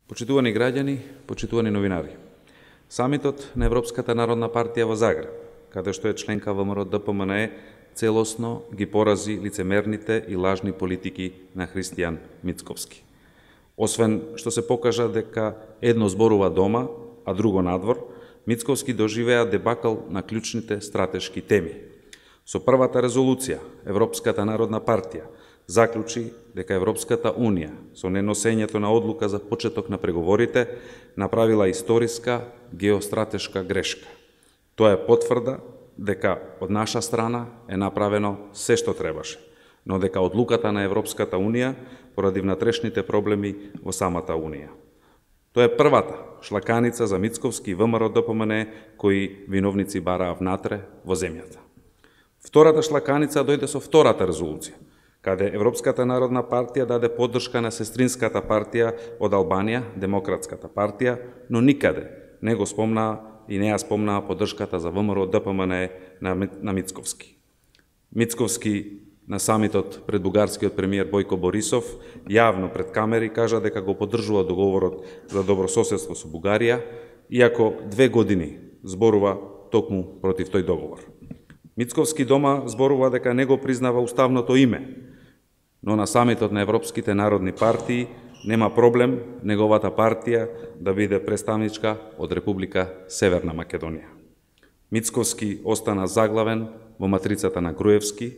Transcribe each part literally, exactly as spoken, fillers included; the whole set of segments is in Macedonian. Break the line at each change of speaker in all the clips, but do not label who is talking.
Почитувани граѓани, почитувани новинари. Самитот на Европската народна партија во Загреб, каде што е членка ВМРО Д П М Н Е, целосно ги порази лицемерните и лажни политики на Христијан Мицковски. Освен што се покажа дека едно зборува дома, а друго надвор, Мицковски доживеа дебакал на клучните стратешки теми. Со првата резолуција, Европската народна партија заклучи дека Европската Унија, со неносењето на одлука за почеток на преговорите, направила историска геостратешка грешка. Тоа е потврда дека од наша страна е направено се што требаше, но дека одлуката на Европската Унија поради внатрешните проблеми во самата Унија. Тоа е првата шлаканица за Мицковски и ВМРО Д П М Н Е кои виновници бараа внатре во земјата. Втората шлаканица дојде со втората резолуција, каде Европската народна партија даде поддршка на сестринската партија од Албанија, Демократската партија, но никаде не го спомнаа и не ја спомнаа поддршката за ВМРО Д П М Н Е на, на Мицковски. Мицковски на самитот пред бугарскиот премиер Бојко Борисов јавно пред камери кажа дека го поддржува договорот за добрососедство со Бугарија, иако две години зборува токму против тој договор. Мицковски дома зборува дека не го признава уставното име, но на самитот на Европските народни партии нема проблем неговата партија да биде представничка од Република Северна Македонија. Мицковски остана заглавен во матрицата на Груевски,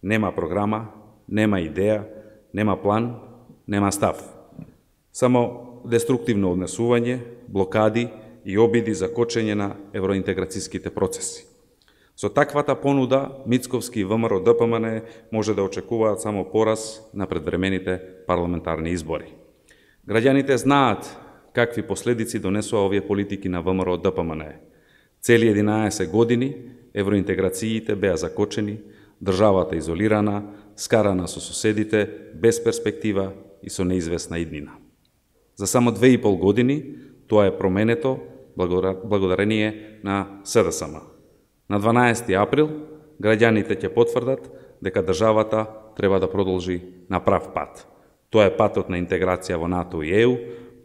нема програма, нема идеја, нема план, нема став. Само деструктивно однесување, блокади и обиди за кочење на евроинтеграцијските процеси. Со таквата понуда, Мицковски и ВМРО Д П М Н Е може да очекуваат само пораз на предвремените парламентарни избори. Граѓаните знаат какви последици донесува овие политики на ВМРО Д П М Н Е. Цели единаесет години евроинтеграциите беа закочени, државата изолирана, скарана со соседите, без перспектива и со неизвестна иднина. За само две и пол години тоа е променето благодарение на С Д С М. На дванаесети април граѓаните ќе потврдат дека државата треба да продолжи на прав пат. Тоа е патот на интеграција во НАТО и Е У,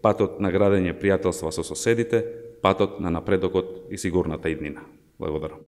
патот на градење пријателства со соседите, патот на напредокот и сигурната иднина. Благодарам.